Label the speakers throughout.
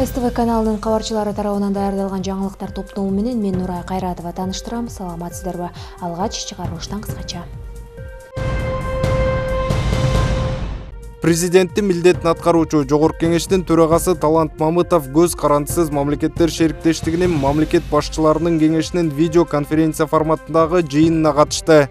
Speaker 1: СТВ каналынын кабарчылары тарабынан даярдалган жаңылыктар топтому менен мен Нурай Кайратова тааныштырам. Саламатсыздарбы? Алгач чыгарылыштан кыскача.
Speaker 2: Президенттин милдетин аткаруучу Жогорку кеңештин төрагасы Талант Мамытов көз карандысыз мамлекеттер шериктештигинин мамлекет башчыларынын кеңешинин видео конференция форматындагы жыйынына катышты.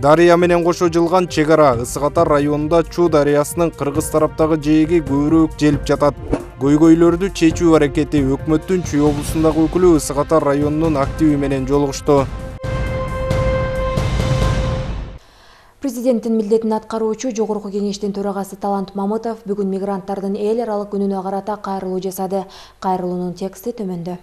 Speaker 2: Дарыя менен кошо жылган чек ара Ысык Ата районунда Чуу дарыясынын кыргыз тараптагы жээги көбүрөөк желип жатат. Көйгөйлөрдү чечүү аракети өкмөттүн Чүй облусундагы өкүлү Ысык Ата районунун активи менен жолугушту.
Speaker 1: Президенттин милдетин аткаруучу Жогорку кеңештин төрагасы Талант Мамытов бүгүн мигранттардын эл аралык күнүнө карата кайрылуу жасады. Кайрылуунун тексти төмөндө.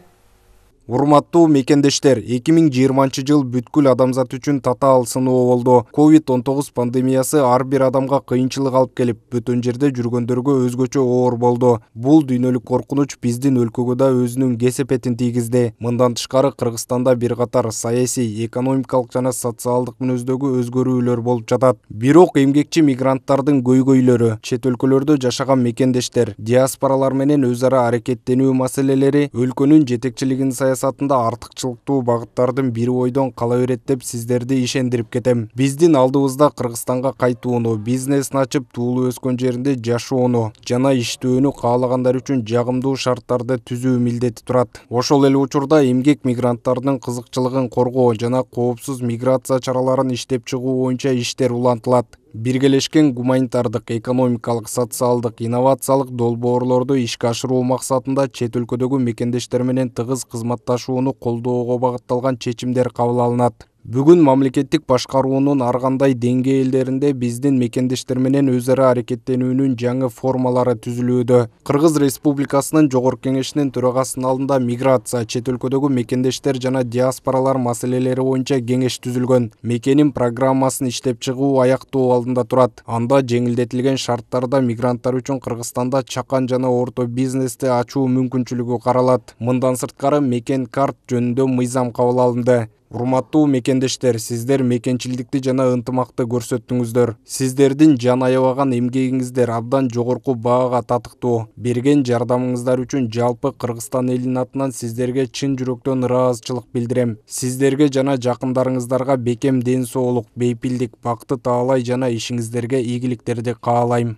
Speaker 2: Урматтуу мекендештер, 2020 жыл бүткүл адамзат үчүн татаал сыноо болду. COVID-19 пандемиясы ар бир адамга кыйынчылык алып келип, бөтөн жерде жүргөндөргө өзгөчө оор болду. Бул дүйнөлүк коркунуч биздин өлкөгө да өзүнүн кесепетин тийгизди. Мындан тышкары Кыргызстанда бир катар саясий, экономикалык жана социалдык мүнөздөгү өзгөрүүлөр болуп жатат. Бирок эмгекчи мигранттардын көйгөйлөрү, чет өлкөлөрдө жашаган мекендештер, диаспоралар менен өз ара аракеттенүү маселелери өлкөнүн жетекчилигин саясатында артыкчылыктуу багыттардын бири бойдон кала берет деп сиздерди ишендирип кетем. Биздин алдыбызда Кыргызстанга кайтууну, бизнесин ачып туулуу өскөн жеринде жашоону жана иштөөнү каалагандар үчүн жагымдуу шарттарды түзүү милдети турат. Ошол эле учурда эмгек мигранттардын кызыкчылыгын коргоо жана коопсуз миграция чараларын иштеп чыгуу боюнча иштер улантылат. Биргелешкен гуманитардык, экономикалык, социалдык, инновациялык долбоорлорду ишке ашыруу максатында чет өлкөдөгү мекендештер менен тыгыз кызматташууну колдоого багытталган чечимдер кабыл алынат. Бүгүн мамлекеттик башкаруунун ар кандай деңгээлдеринде биздин мекендештер менен өз ара аракеттенүүнүн жаңы формалары түзүлүүдө. Кыргыз Республикасынын Жогорку кеңешинин төрагасынын алдында миграция, чет өлкөдөгү мекендештер жана диаспоралар маселелери боюнча кеңеш түзүлгөн. Мекенин программасын иштеп чыгуу аяктоо алдында турат. Анда жеңилдетилген шарттарда мигранттар үчүн Кыргызстанда чакан жана орто бизнести ачуу мүмкүнчүлүгү каралат. Мындан сырткары мекен карт жөнүндө мыйзам кабыл алынды. Урматтуу мекендештер, сиздер мекенчилдикти жана ынтымакты көрсөттүңүздөр. Сиздердин жан аябаган эмгегиңиздер абдан жогорку баага татыктуу. Берген жардамыңыздар үчүн жалпы Кыргызстан элинин атынан сиздерге чын жүрөктөн ыраазычылык билдирем. Сиздерге жана жакындарыңыздарга бекем ден соолук, бейпилдик, бакыт таалай жана ишиңиздерге ийгиликтерди каалайм.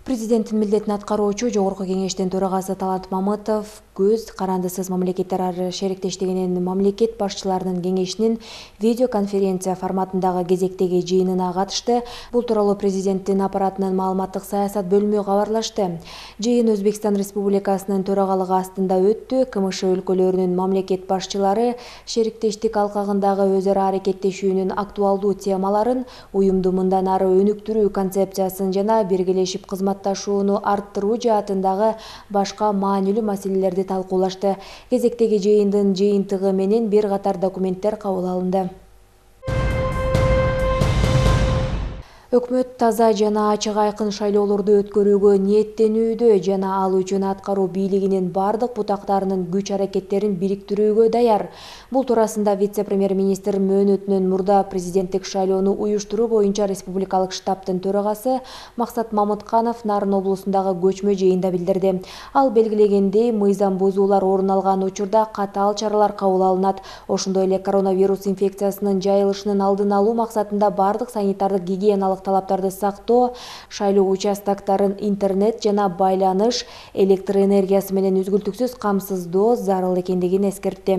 Speaker 1: Президенттин милдетин аткаруучу Жогорку кеңештин төрагасы Талант Мамытов көз карандысыз мамлекеттер шериктештигинин мамлекет башчыларынын кеңешинин видеоконференция форматындагы кезектеги жыйынына катышты. Бул тууралуу президенттин аппаратынын маалыматтык саясат бөлүмү кабарлашты. Жыйын Өзбекстан Республикасынын төрагалыгы астында өттү. КМШ өлкөлөрүнүн мамлекет башчылары шериктештик алкагындагы өз ара аракеттешүүнүн актуалдуу темаларын, уюмду мындан ары өнүктүрүү концепциясын жана биргелешип кызматташууну арттыруу жаатындагы башка маанилүү маселелерди талкуулашты. Кезектеги жыйындын жыйынтыгы менен бир катар документтер кабыл алынды. Өкмөт таза жана ачык айкын шайлоолорду өткөрүүгө ниеттенүүдө жана ал үчүн аткаруу бийлигинин бардык бутактарынын күч-аракеттерин бириктирүүгө даяр. Бул туурасында вице-премьер-министр мөөнөтүнөн мурда президенттик шайлоону уюштуруу боюнча республикалык штабтын төрагасы Максат Мамытканов Нарын облусундагы көчмө жыйында билдирди. Ал белгилегендей, мыйзам бузуулар орун алган учурда катаал чаралар кабыл алынат. Ошондой эле коронавирус инфекциясынын жайылышынын алдын алуу максатында бардык санитардык гигиеналык талаптарды сактоо, шайлоо участоктарын интернет жана байланыш, электр энергиясы менен үзгүлтүксүз камсыздоо зарыл экендигин эскертти.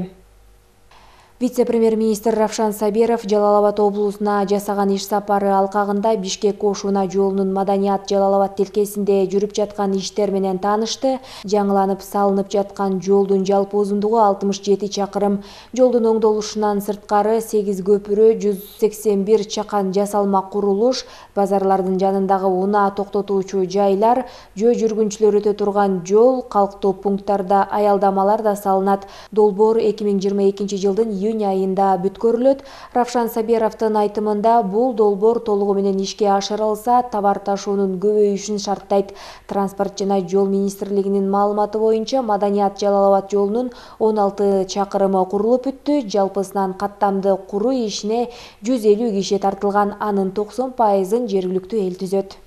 Speaker 1: Вице-премьер-министр Равшан Сабиров Жалал-Абад облусуна жасаган иш сапары алкагында Бишкек-Кошуна жолунун Маданият Жалал-Абад тилкесинде жүрүп жаткан иштер менен таанышты. Жаңыланып салынып жаткан жолдун жалпы узундугу 67 чакырым. Жолдун оңдолушунан сырткары 8 көпүрө, 181 чакан жасалма курулуш, базарлардын жанындагы унаа токтотуучу жайлар, жөө жүргүнчүлөр өтө турган жол, калктоо пункттарда аялдамалар да салынат. Долбоор 2022 жылдын июнь айында бүткөрүлөт. Равшан Сабировдун айтымында бул долбоор толугу менен ишке ашырылса, товар ташуунун көбөйүшүн шарттайт. Транспорт жана жол министрлигинин маалыматы боюнча Маданият Жалал-Абад жолунун 16 чакырымы курулуп бүттү. Жалпысынан каттамды куруу ишине 150 киши тартылган, анын 90%-ын жергиликтүү эл түзөт.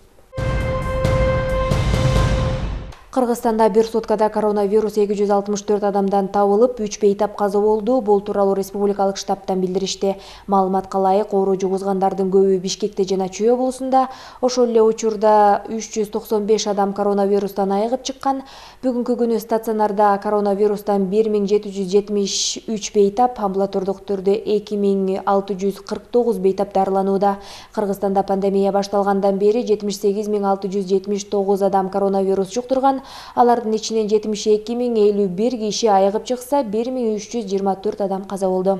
Speaker 1: Кыргызстанда бир суткада коронавирус 264 адамдан табылып, 3 бейтап каза болду. Бул тууралуу республикалык штабтан билдиришти. Маалыматка ылайык, оору жугузгандардын көбү Бишкекте жана Чүй облусунда. Ошол эле учурда 395 адам коронавирустан айыгып чыккан. Бүгүнкү күнү стационарда коронавирустан 1773 бейтап, амбулатордук түрдө 2649 бейтап дарыланууда. Кыргызстанда пандемия башталгандан бери 78679 адам коронавирус жуктурган. Алардын ичинен 72051 киши айыгып чыкса, 1324 адам каза болду.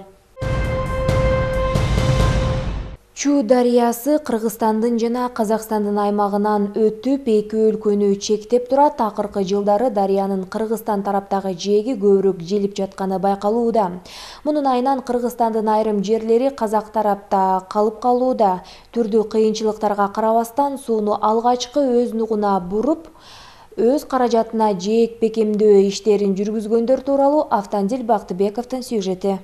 Speaker 1: Чүй дарыясы Кыргызстандын жана Казакстандын аймагынан өтүп, эки өлкөнү чектеп турат. Акыркы жылдары дарыянын Кыргызстан тараптагы жээги көбүрөөк желип жатканы байкалууда. Мунун айынан Кыргызстандын айрым жерлери Казак тарапта калып калууда. Түрдүү кыйынчылыктарга карабастан сууну алгачкы өз нугуна буруп, өз каражатына жээк бекемдөө иштерин жүргүзгөндөр тууралуу Автандил Бактыбековдун сюжети.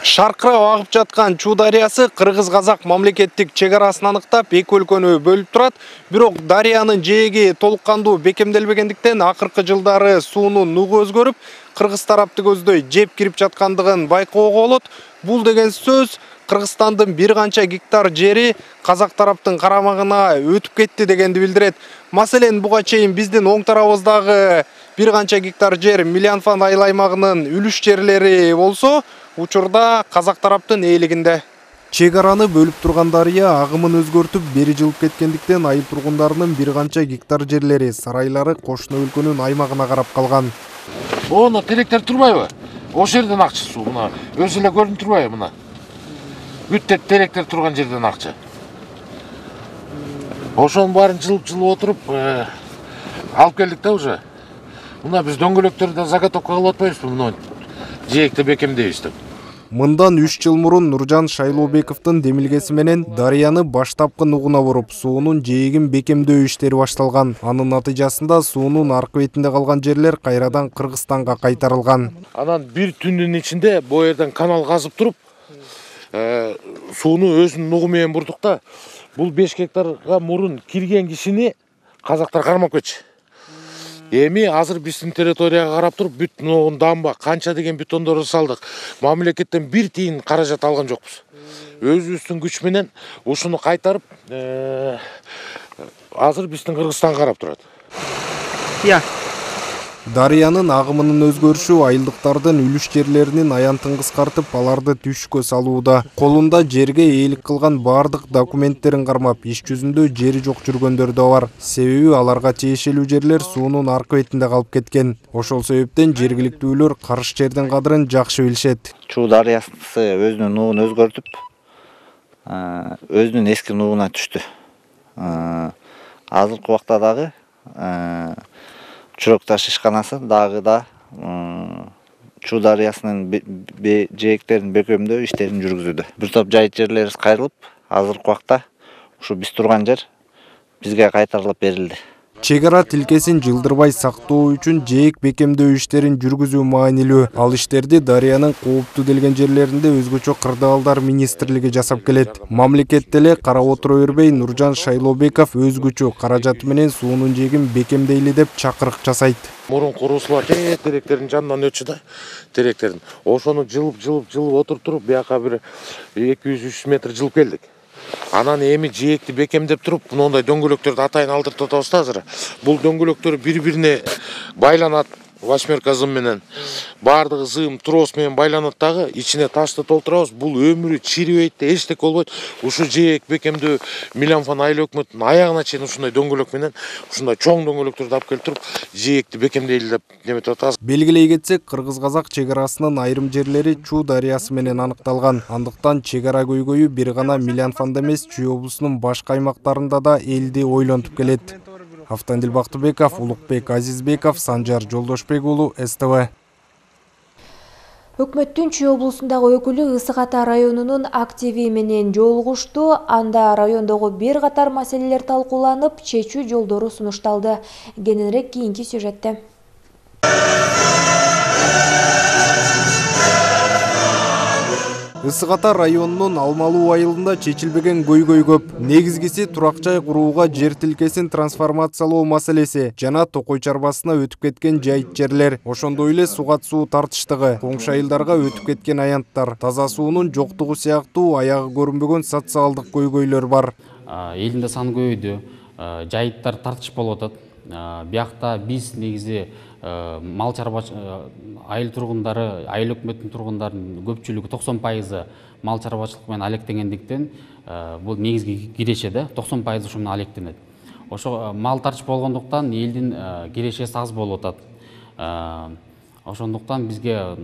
Speaker 2: Шаркырап агып жаткан Чүй дарыясы Кыргыз-Казак мамлекеттик чек арасын аныктап, эки өлкөнү бөлүп турат. Бирок дарыянын жээги толук кандуу бекемделбегендиктен акыркы жылдары суунун нугу өзгөрүп, Кыргыз тарапты көздөй жеп кирип жаткандыгын байкоого болот. Бул деген сөз Кыргызстандын бир канча гектар жери Казак тараптын карамагына өтүп кетти дегенди билдирет. Маселен, буга чейин биздин оң тарабыбыздагы бир канча гектар жер Милянфан айыл аймагынын үлүш жерлери болсо, учурда Казак тараптын ээлигинде. Чек араны бөлүп турган дарыя агымын өзгөртүп, бери жылып кеткендиктен айыл тургундарынын бир канча гектар жерлери, сарайлары кошуна өлкөнүн аймагына карап калган.
Speaker 3: Оны теректер турбайбы? Ошол жерден акча суу, мына өзү эле көрүнүп турбайбы мына? Бүттөт теректер турган жерден акча. Ошонун баарын жылып отуруп, алып келдик да уже. Мына биз дөңгөлөктөрдө заготовка кылып атпайбызбы, мына жээкти бекемдейбиз деп.
Speaker 2: Мындан 3 жыл мурун Нуржан Шайлообековдун демилгеси менен дарыяны баштапкы нугуна буруп, суунун жээгин бекемдөө иштери башталган. Анын натыйжасында суунун аркы бетинде калган жерлер кайрадан Кыргызстанга кайтарылган.
Speaker 3: Анан бир түндүн ичинде бу жерден канал казып туруп, сууну өзүнүн нугу менен бурдук да. Бул 5 гектарга мурун кирген кишини казактар кармап кетчү. Эми азыр биздин территорияга карап туруп, бүт дамба, канча деген бетондорду салдык. Мамлекеттен бир тиын каражат алган жокпуз. Өзүбүздүн күч менен ушуну кайтарып, азыр биздин Кыргызстан карап турат.
Speaker 2: Дарыянын агымынын өзгөрүшү айылдыктардын үлүш жерлеринин аянтын кыскартып, аларды түшкө салууда. Колунда жерге ээлик кылган бардык документтерин кармап, иш жүзүндө жери жок жүргөндөр да бар. Себеби аларга тиешелүү жерлер суунун аркы бетинде калып кеткен. Ошол себептен жергиликтүүлөр карыш жердин кадырын жакшы билишет.
Speaker 4: Чүй дарыясы өзүнүн нугун өзгөртүп, өзүнүн эски нугуна түштү. Азыркы убакта дагы Чурок таш ишканасы дагы да Чүй дарыясынын жээктерин бекемдөө иштерин жүргүзүүдө. Бир топ жайыт жерлерибиз кайрылып, азыркы убакта ушу биз турган жер бизге кайтарылып берилди.
Speaker 2: Чек ара тилкесин жылдырбай сактоо үчүн жээк бекемдөө иштерин жүргүзүү маанилүү. Ал иштерди дарыянын кооптуу делген жерлеринде өзгөчө кырдаалдар министрлиги жасап келет. Мамлекет деле карап отура бербей, Нуржан Шайлообеков өз күчү каражаты менен суунун жээгин бекемдейли деп чакырык жасайт.
Speaker 3: Мурун куруусулар теректердин жанынан өтчү да, теректердин. Ошону жылып отуруп туруп, бияка бир 200-300 метр жылып келдик. Анан эми жээкти бекемдеп туруп, мындай дөңгөлөктөрдү атайын алдыртып атабыз да азыр. Бул дөңгөлөктөр бири-бирине байланат. Восьмерка зым менен баардыгы зым трос менен байланат дагы, ичине ташты толтурабыз. Бул өмүрү чирибейт да, эчтеке болбойт. Ушу жээк бекемдөө Милянфан айыл өкмөтүнүн аягына чейин ушундай дөңгөлөк менен, ушундай чоң дөңгөлөктөрдү алып келип туруп, жээкти бекемдейли деп неметип атабыз.
Speaker 2: Белгилей кетсек, Кыргыз-Казак чек арасынын айрым жерлери Чүй дарыясы менен аныкталган. Андыктан чек ара көйгөйү бир гана Милянфанда эмес, Чүй облусунун башка аймактарында да элди ойлонтуп келет. Автандил Бактыбеков, Улукбек Азизбеков, Санжар Жолдошбек уулу, СТВ.
Speaker 1: Өкмөттүн Чүй облусундагы өкүлү Ысык Ата районунун активи менен жолугушту. Анда райондогу бир катар маселелер талкууланып, чечүү жолдору сунушталды. Кененирээк кийинки сюжетте.
Speaker 2: Ысык Ата районунун Алмалуу айылында чечилбеген көйгөй көп. Негизгиси турак жай курууга жер тилкесин трансформациялоо маселеси жана Токой чарбасына өтүп кеткен жайыт жерлер. Ошондой эле сугат суу тартыштыгы, коңшу айылдарга өтүп кеткен аянттар, таза суунун жоктугу сыяктуу аягы көрүнбөгөн социалдык көйгөйлөр бар.
Speaker 5: Элдин саны көбөйдү, жайыттар тартыш болуп атат. Биякта биз негизи мал чарбачылык айыл тургундары, айыл өкмөттүн тургундарынын көпчүлүгү 90% мал чарбачылык менен алектенгендиктен бул негизги киреше да 90% ошо менен алектенет. Ошо мал тартыш болгондуктан элдин кирешеси аз болуп атат. Ошондуктан бизге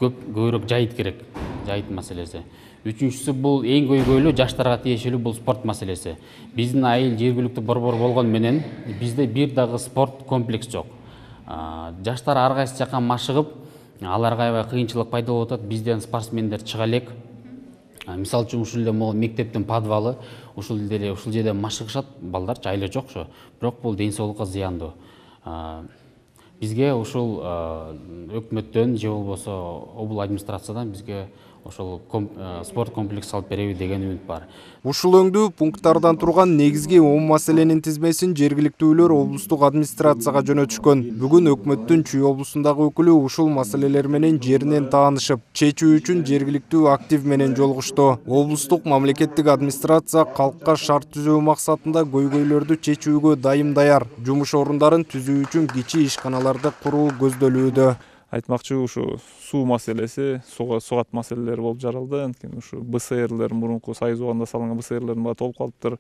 Speaker 5: көбүрөөк жайыт керек, жайыт маселеси. Үчүнчүсү бул эң көйгөйлүү жаштарга тиешелүү бул спорт маселеси. Биздин айыл жергиликтүү борбор болгон менен бизде бир дагы спорт комплекс жок. Жаштар ар кайсы жака машыгып, аларга аябай кыйынчылык пайда болуп атат. Бизден спортсмендер чыга элек. Мисалы үчүн ушул эле могу мектептин подвалы, ушул жерде машыгышат балдарчы, айла жок ошо. Бирок бул ден соолукка зыяндуу. Бизге ушул өкмөттөн же болбосо обул администрациядан бизге ошол спорт комплекс салып береби деген үмүт бар.
Speaker 2: Ушул өңдүү пункттардан турган негизги 10 маселенин тизмесин жергиликтүүлөр облустук администрацияга жөнөтүшкөн. Бүгүн өкмөттүн Чүй облусундагы өкүлү ушул маселелер менен жеринен таанышып, чечүү үчүн жергиликтүү актив менен жолугушту. Облустук мамлекеттик администрация калкка шарт түзөө максатында көйгөйлөрдү чечүүгө дайым даяр. Жумуш орундарын түзүү үчүн кичи ишканаларды куруу көздөлүүдө.
Speaker 6: Айтмакчы ушу суу маселеси, сугат маселелери болуп жаралды. Анткени ушу БСРлер мурунку Союз убагында салынган БСРлердин баары толуп калыптыр.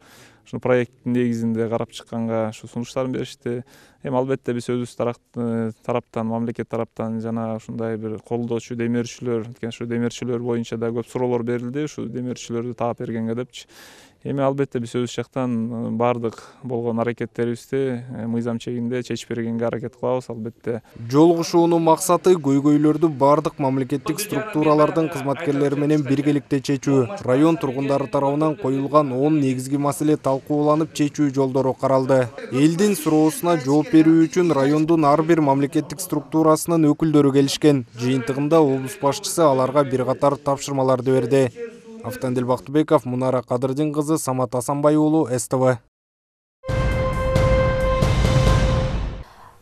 Speaker 6: Ушул проекттин негизинде карап чыкканга ушу сунуштарын беришти. Эми албетте биз өзүбүз тараптан, мамлекет тараптан жана ушундай бир колдоочу демирчилер, анткени ушу демирчилер боюнча да көп суроолор берилди, ушу демирчилерди таап бергенге депчи. Эми албетте биз өз жактан баардык болгон аракеттерибизди мыйзам чегинде чечип бергенге аракет кылабыз, албетте.
Speaker 2: Жолугушуунун максаты көйгөйлөрдү баардык мамлекеттик структуралардын кызматкерлери менен биргеликте чечүү. Район тургундары тарабынан коюлган 10 негизги маселе талкууланып чечүү жолдору каралды. Элдин суроосуна жооп берүү үчүн райондун ар бир мамлекеттик структурасынын өкүлдөрү келишкен. Жыйынтыгында облус башчысы аларга бир катар тапшырмаларды берди. Автандил Бактыбеков, Мунара Кадырдин кызы, Самат Асанбай уулу, СТВ.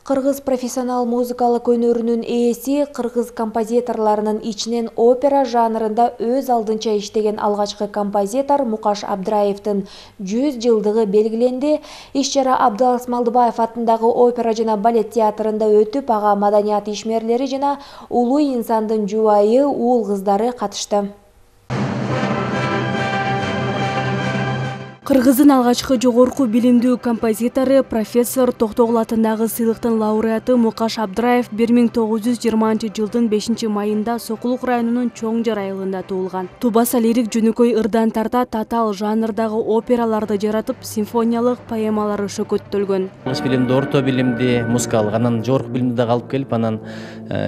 Speaker 1: Кыргыз профессионал музыкалык өнөрүнүн ээси, кыргыз композиторлорунун ичинен опера жанрында өз алдынча иштеген алгачкы композитор Мукаш Абдраевдин 100 жылдыгы белгиленди. Иш-чара Абдалас Малдыбаев атындагы опера жана балет театрында өтүп, ага маданият ишмерлери жана улуу инсандын жубайы, уул кыздары катышты. Кыргыздын алгачкы жогорку билимдүү композитору, профессор Токтогул атындагы сыйлыктын лауреаты Мукаш Абдраев 1920 жылдын 5-майында Сокулук районунун Чоң Жар айылында туулган. Тубаса лирик жөнөкөй ырдан тарта татаал жанрдагы операларды жаратып, симфониялык поэмалары шөкөттөлгөн.
Speaker 7: Алгачкы билимди, орто билимди, музыкалык, анан жогорку билимди дагы алып келип, анан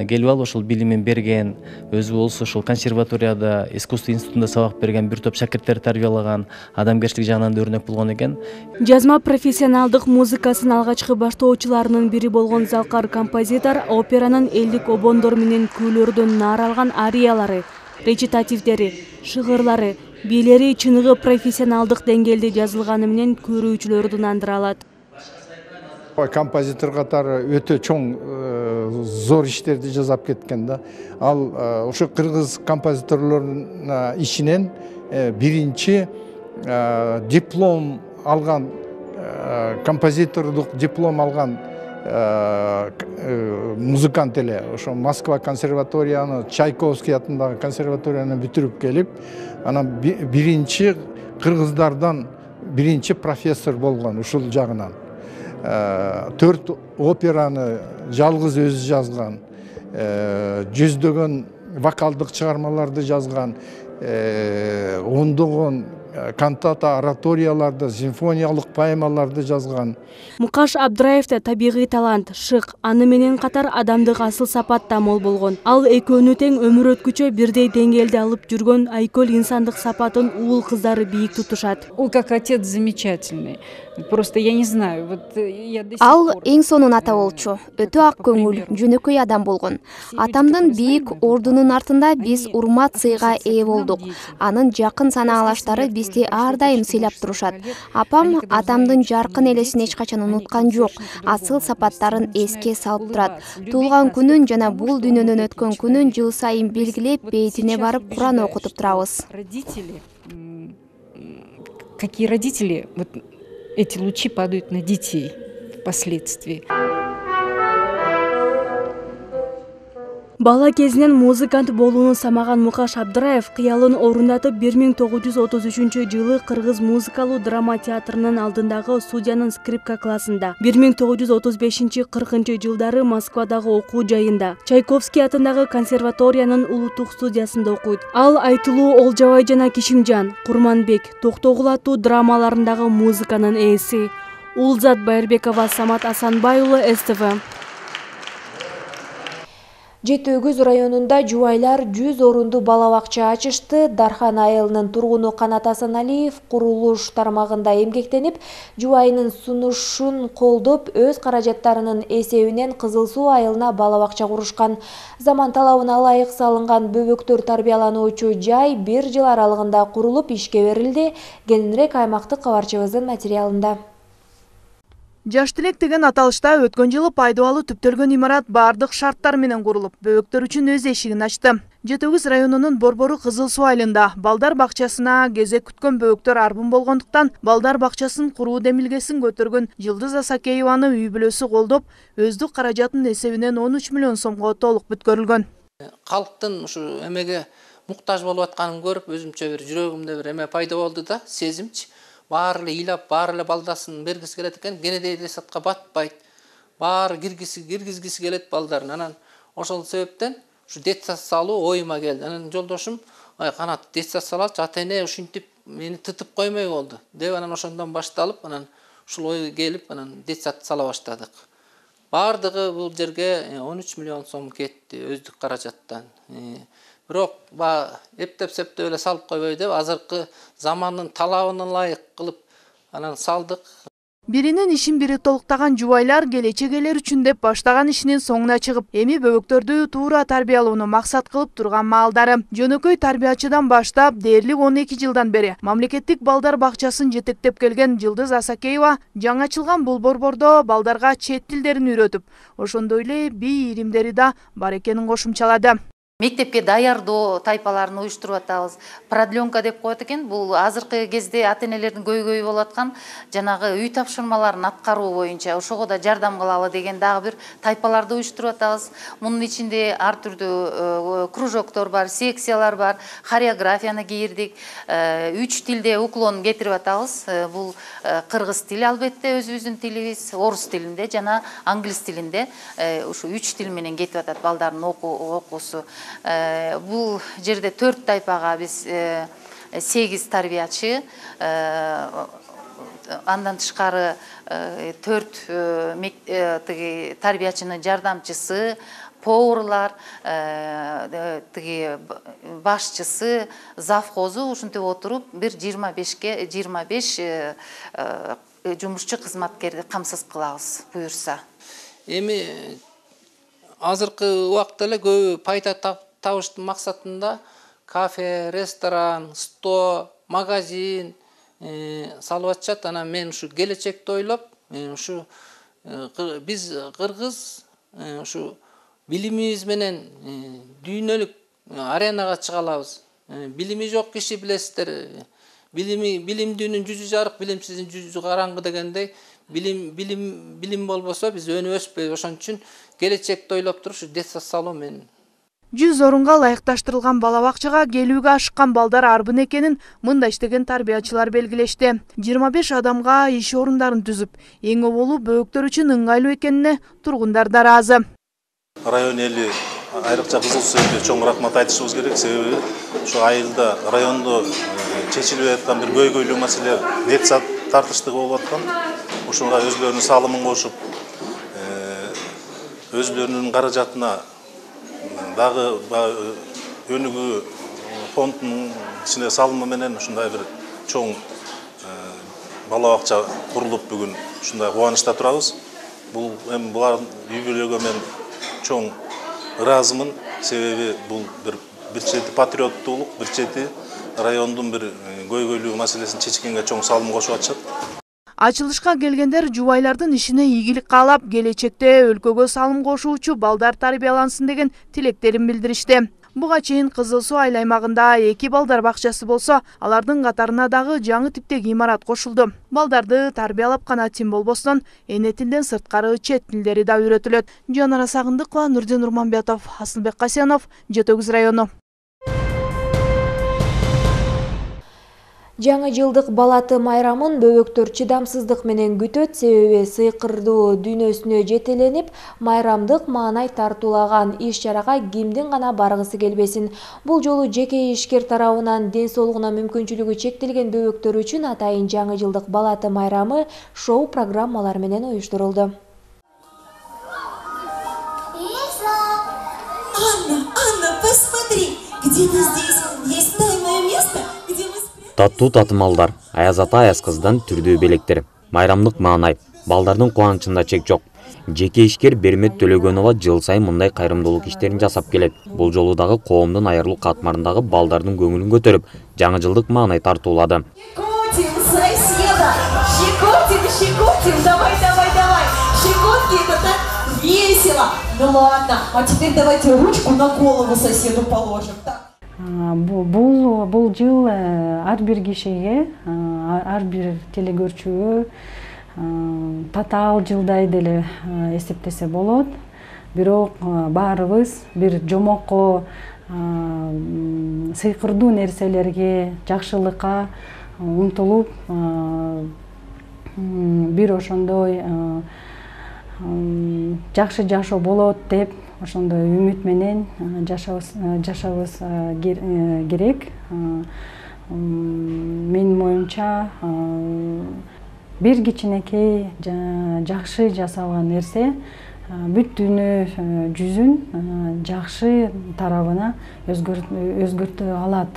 Speaker 7: келип алып ошол билимин берген, өзү болсо ошол консерваторияда, искусство институтунда сабак берген, бир топ шакирттер тарбиялаган, адамгерчилик жагынан өрнөк болгон экен.
Speaker 1: Жазма профессионалдык музыкасын алгачкы баштоочуларынын бири болгон залкар композитор операнын элдик обондор менен күүлөрдөн наар алган ариялары, речитативдери, шыгырлары, бийлери чыныгы профессионалдык деңгээлде жазылганы менен көрүүчүлөрдү нандыра алат.
Speaker 8: Композитор катары өтө чоң зор иштерди жасап кеткен да. Ал ошо кыргыз композиторлорунун ичинен биринчи диплом алган, композитордук диплом алган музыкант эле. Ошо Москва консерваторияны, Чайковский атындагы консерваторияны бүтүрүп келип, анан биринчи кыргыздардан биринчи профессор болгон ушул жагынан. 4 операны жалгыз өзү жазган, жүздөгөн вокалдык чыгармаларды жазган, ондогон кантата, ораторияларды, симфониялык поэмаларды жазган.
Speaker 1: Мукаш Абдраевде табигый талант, шык, аны менен катар адамдык асыл сапат да мол болгон. Ал экөөнү тең өмүр өткүчө бирдей деңгээлде алып жүргөн айкөл инсандык сапатын уул кыздары бийик тутушат.
Speaker 9: Он как отец замечательный. Просто я не знаю, вот я до сих
Speaker 10: Ал
Speaker 9: пор.
Speaker 10: эң сонун ата болчу. Өтө ак көңүл, жөнөкөй адам болгон. Атамдын бийик ордунун артында биз урмат сыйга ээ болдук. Анын жакын санаалаштары бизди ар дайым сыйлап турушат. Апам атамдын жаркын элесин эч качан унуткан жок. Асыл сапаттарын эске салып турат. Туулган күнүн жана бул дүйнөдөн өткөн күнүн жыл сайын белгилеп, бейтине барып Куран окутуп турабыз.
Speaker 9: Родители, какие родители, вот эти лучи падают на детей впоследствии.
Speaker 11: Бала кезинен музыкант болууну самаган Мукаш Абдыраев кыялын орундатып 1933-жылы Кыргыз музыкалуу драма театрынын алдындагы студиянын скрипка классында, 1935-40 жылдары Москвадагы окуу жайында, Чайковский атындагы консерваториянын улуттук студиясында окуйт. Ал Айтылуу Олжабай жана Кишимжан, Курманбек, Токтогул аттуу драмаларындагы музыканын ээси. Улзат Байырбекова, Самат Асанбай уулу, СТВ.
Speaker 1: Жети Өгүз районунда жубайлар 100 орунду бала бакча ачышты. Дархан айылынын тургуну Канат Асаналиев курулуш тармагында эмгектенип, жубайынын сунушун колдоп, өз каражаттарынын эсебинен Кызыл Суу айылына бала бакча курушкан. Заман талабына ылайык салынган бөбөктөр тарбиялануучу жай 1 жыл аралыгында курулуп ишке берилди. Кененирээк аймактык кабарчыбыздын материалында.
Speaker 12: Жаш тилек деген аталышта өткөн жылы пайдалуу түптөлгөн имарат бардык шарттар менен курулуп, бөбөктөр үчүн өз эшигин ачты. Жети Өгүз районунун Борбору Кызыл Суу айылында балдар бакчасына кезек күткөн бөбөктөр арбын болгондуктан балдар бакчасын куруу демилгесин көтөргөн Жылдыз Асакееваны үй бүлөсү колдоп, өздүк каражатынын эсебинен 13 миллион сомго толук бүткөрүлгөн.
Speaker 13: Калктын ушу эмеге муктаж болуп атканын көрүп, өзүмчө бир жүрөгүмдө бир эме пайда болду да, сезимчи. Баары эле ыйлап, баары эле балдасын бергиси келет экен, кенедей детсадка батпайт. Баары киргизгиси келет балдарын. Анан ошол себептен ушу детсад салуу оюма келди. Анан жолдошум, "Ай, Канат, детсад салачы, ата-эне ушинтип мени тытып коймой болду" деп, анан ошондон башталып, анан ушул ой келип, анан детсад сала баштадык. Баардыгы бул жерге 13 миллион сом кетти өздүк каражаттан. Бирок эптеп-септеп эле салып койбой деп, азыркы замандын талабына ылайык кылып анан салдык.
Speaker 12: Биринин ишин бири толуктаган жубайлар келечек элер үчүн деп баштаган ишинин соңуна чыгып, эми бөбөктөрдү туура тарбиялоону максат кылып турган маалдары. Жөнөкөй тарбиячыдан баштап дээрлик 12 жылдан бери мамлекеттик балдар бакчасын жетектеп келген Жылдыз Асакеева жаңы ачылган бул борбордо балдарга чет тилдерин үйрөтүп, ошондой эле бий иримдери да бар экенин кошумчалады.
Speaker 14: Мектепке даярдоо тайпаларын уюштуруп атабыз. Продленка деп коет экен. Бул азыркы кезде ата-энелердин көйгөйү болуп аткан жанагы үй тапшырмаларын аткаруу боюнча ошого да жардам кылалы деген дагы бир тайпаларды уюштуруп атабыз. Мунун ичинде ар түрдүү кружоктор бар, секциялар бар, хореографияны кийирдик. 3 тилде уклон кетирип атабыз. Бул кыргыз тили албетте өзүбүздүн тилибиз, орус тилинде жана англис тилинде ушу 3 тил менен кетип атат балдардын окуусу. Бул жерде 4 тайпага биз 8 тарбиячы, андан тышкары 4 тарбиячынын жардамчысы, поварлар, башчысы, завхозу ушинтип отуруп бир 25 жумушчу кызматкерди камсыз кылабыз буюрса.
Speaker 13: Эми азыркы убакта эле көбү пайда табыштын максатында кафе, ресторан, сто, магазин салып атышат. Анан мен ушу келечекти ойлоп, ушу биз кыргыз ушу билимибиз менен дүйнөлүк аренага чыга алабыз. Билими жок киши билесиздер, билимдүүнүн жүзү жарык, билимсиздин жүзү караңгы дегендей. Билим болбосо биз өнүп өспөйбүз. Ошон үчүн келечекти ойлоп туруп ушу детсад салуу мен
Speaker 12: 100 орунга ылайыкташтырылган бала бакчага келүүгө ашыккан балдар арбын экенин мында иштеген тарбиячылар белгилешти. 25 адамга иш орундарын түзүп, эң оболу бөбөктөр үчүн ыңгайлуу экенине тургундар да ыраазы.
Speaker 15: Район эли айрыкча Кызыл Суу элине чоң рахмат айтышыбыз керек. Себеби ушу айылда райондо чечилбей аткан бир көйгөйлүү маселе детсад тартыштыгы болуп аткан. Ушуга өзлөрүнүн салымын кошуп, өзлөрүнүн каражатына дагы өнүгүү фондунун ичине салымы менен ушундай бир чоң бала бакча курулуп бүгүн ушундай кубанычта турабыз. Бул эми булардын үй бүлөгө мен чоң ыраазымын. Себеби бул бир чети патриоттуулук, бир чети райондун бир көйгөйлүү маселесин чечкенге чоң салым кошуп атышат.
Speaker 12: Ачылышка келгендер жубайлардын ишине ийгилик каалап, келечекте өлкөгө салым кошуучу балдар тарбиялансын деген тилектерин билдиришти. Буга чейин Кызыл Суу айыл аймагында 2 балдар бакчасы болсо, алардын катарына дагы жаңы типтеги имарат кошулду. Балдарды тарбиялап гана тим болбостон, эне тилден сырткары чет тилдери да үйрөтүлөт. Жанара Сагындыкова, Нурдин Урманбетов, Асылбек Касенов, Жети Өгүз району.
Speaker 1: Жаңы жылдык балаты майрамын бөбөктөр чыдамсыздык менен күтөт, себеби сыйкырдуу дүйнөсүнө жетеленип, майрамдык маанай тартуулаган иш-чарага кимдин гана баргысы келбесин. Бул жолу жеке ишкер тарабынан ден соолугуна мүмкүнчүлүгү чектелген бөбөктөр үчүн атайын жаңы жылдык балаты майрамы шоу программалар менен уюштурулду.
Speaker 16: Анна, посмотри, где-то здесь есть тайное место, где мы...
Speaker 17: Таттуу татымалдар, аяз ата аяз кыздан түрдүү белектер. Майрамдык маанай, балдардын кубанычында чек жок. Жеке ишкер Бермет Төлөгөнова жыл сайын мындай кайрымдуулук иштерин жасап келет. Бул жолу дагы коомдун аярлуу катмарындагы балдардын көңүлүн көтөрүп, жаңы жылдык маанай тартуулады.
Speaker 16: Щекотим соседа, щекотим, давай, щекотки, это так весело. Ну ладно, а теперь давайте ручку на голову соседу положим.
Speaker 18: Бул жыл ар бир кишиге, ар бир телекөрүүчүгө татаал жылдай деле эсептесе болот. Бирок баарыбыз бир жомокко, сыйкырдуу нерселерге, жакшылыкка умтулуп, бир ошондой жакшы жашоо болот деп ошондой үмүт менен жашабыз керек. Менин оюмча бир кичинекей жакшы жасалган нерсе бүт дүйнө жүзүн жакшы тарабына өзгөртө алат.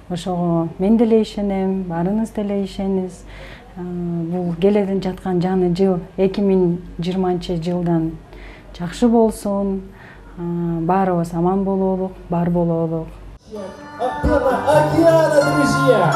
Speaker 18: Ошого мен деле ишенем, барыңыз деле ишениңиз. Бул келе жаткан жаңы жыл 2020 жылдан жакшы болсун. Баарыбыз аман бололук, бар бололук.
Speaker 19: Океана, друзья!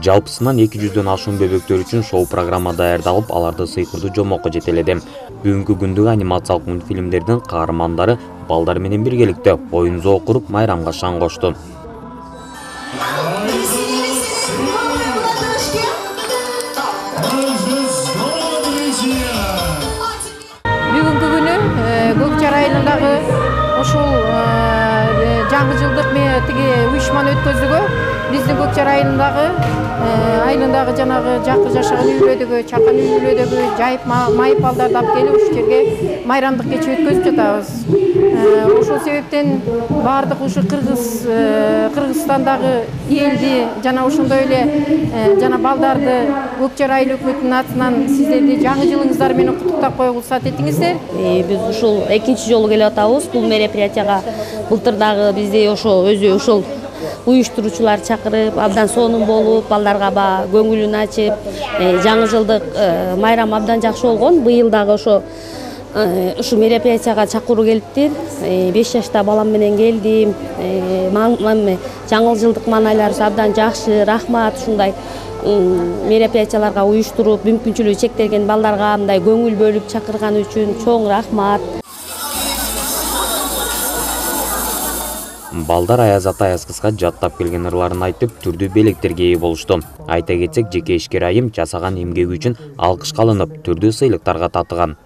Speaker 17: Жалпысынан 200дөн ашуун бөбөктөр үчүн шоу программа даярдалып, аларды сыйкырдуу жомокко жетеледи. Бүгүнкү күндүк анимациялык мультфильмдердин каармандары балдар менен биргеликте оюн зоо куруп, майрамга шаң кошту.
Speaker 20: Бүгүнкү күнү Көкчар айылындагы ушул жаңы жылдык тиги уюшманы өткөзүүгө биздин Көкчар айылындагы жанагы жакы жашаган үйлөрдөгү, чакан үйлөрдөгү жайып майып балдарды алып келип ушул жерге майрамдык кече өткөзүп жатабыз. Ошол себептен баардык ушу Кыргызстандагы элди жана ошондой эле жана балдарды Көкчар айыл өкмөтүнүн атынан сиздерди жаңы жылыңыздар менен куттуктап койгула уруксат этиңиздер.
Speaker 21: Биз ушул экинчи жолу келип атабыз. Бул мероприятияга былтыр дагы бизди өзү ушул уюштуруучулар чакырып, абдан сонун болуп, балдарга көңүлүн ачып, жаңы жылдык майрам абдан жакшы болгон. Быйыл дагы ушу мероприятияга чакыруу келиптир. 5 жашта балам менен келдим. Жаңы жылдык маанайларыбыз абдан жакшы. Рахмат ушундай мероприятияларга уюштуруп, мүмкүнчүлүгү чектелген балдарга мындай көңүл бөлүп чакырган үчүн чоң рахмат.
Speaker 17: Балдар аяз ата аяз кызга жаттап келген ырларын айтып, түрдүү белектерге ээ болушту. Айта кетсек, жеке ишкер айым жасаган эмгеги үчүн алкышка алынып, түрдүү сыйлыктарга татыган.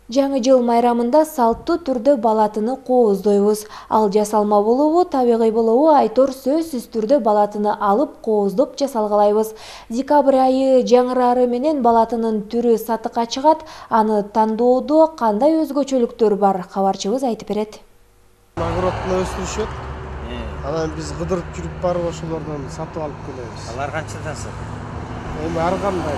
Speaker 1: Жаңы жыл майрамында салттуу түрдө балатыны кооздойбуз. Ал жасалма болобу, табигый болобу, айтор сөзсүз түрдө балатыны алып кооздоп жасалгалайбыз. Декабрь айы жаңырары менен балатынын түрү сатыкка чыгат. Аны тандоодо кандай өзгөчөлүктөр бар? Кабарчыбыз айтып берет.
Speaker 22: Огородно өстүрүшөт.
Speaker 19: Анан биз кыдырып жүрүп барып ошолордон сатып алып келебиз.
Speaker 22: Алар канчадасы?
Speaker 19: Эми ар кандай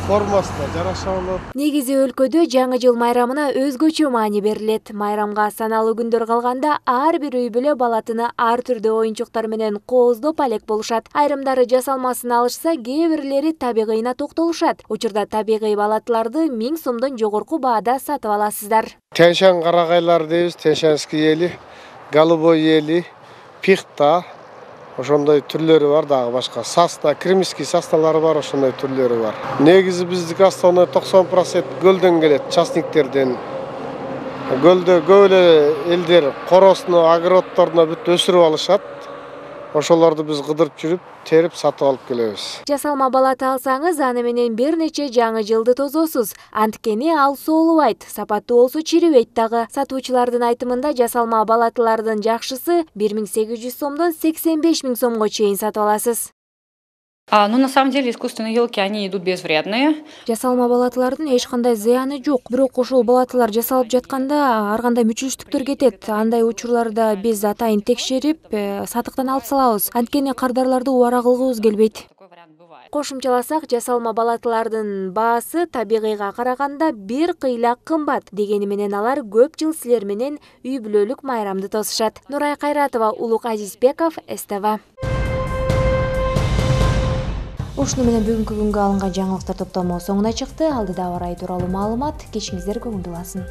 Speaker 19: формасына жараша болот.
Speaker 1: Негизи өлкөдө жаңы жыл майрамына өзгөчө маани берилет. Майрамга саналуу күндөр калганда ар бир үй бүлө балатыны ар түрдүү оюнчуктар менен кооздоп алек болушат. Айрымдары жасалмасын алышса, кээ бирлери табигыйына токтолушат. Учурда табигый балатыларды 1000 сомдон жогорку баада сатып аласыздар.
Speaker 19: Тянь-шань карагайлар дейбиз, тянь-шаньский ели, голубой ели, пихта. Ошондой түрлөрү бар, дагы башка сасна, кремский сасналары бар, ошондой түрлөрү бар. Негизи биздики основной 90% көлдөн келет, частниктерден. Көлдө көп эле элдер коросуна, огородторуна бүт өсүрүп алышат. Ошолорду биз кыдырып жүрүп, терип сатып алып келебиз.
Speaker 1: Жасалма балаты алсаңыз, аны менен бир нече жаңы жылды тозосуз. Анткени ал соолубайт, сапаттуу болсо чирибейт дагы. Сатуучулардын айтымында жасалма балатылардын жакшысы 1800 сомдон 85 000 сомго чейин сатып аласыз.
Speaker 23: Ну, на самом деле, искусственные елки, они идут безвредные.
Speaker 1: Жасалма балатылардын эч кандай зыяны жок. Бирок ошол балатылар жасалып жатканда ар кандай мүчүлүштүктөр кетет. Андай учурларда биз атайын текшерип, сатыктан алып салабыз. Анткени кардарларды убара кылгыбыз келбейт. Кошумчаласак, жасалма балатылардын баасы табигыйга караганда бир кыйла кымбат. Дегени менен алар көп жыл силер менен үй бүлөлүк майрамды тосушат. Нурай Кайратова, Улук Азизбеков, СТВ. Ушуну менен бүгүнкү күнгө алынган жаңылыктар топтому соңуна чыкты. Алдыда абар ай тууралуу маалымат. Кечиңиздер көңүлдүү болсун.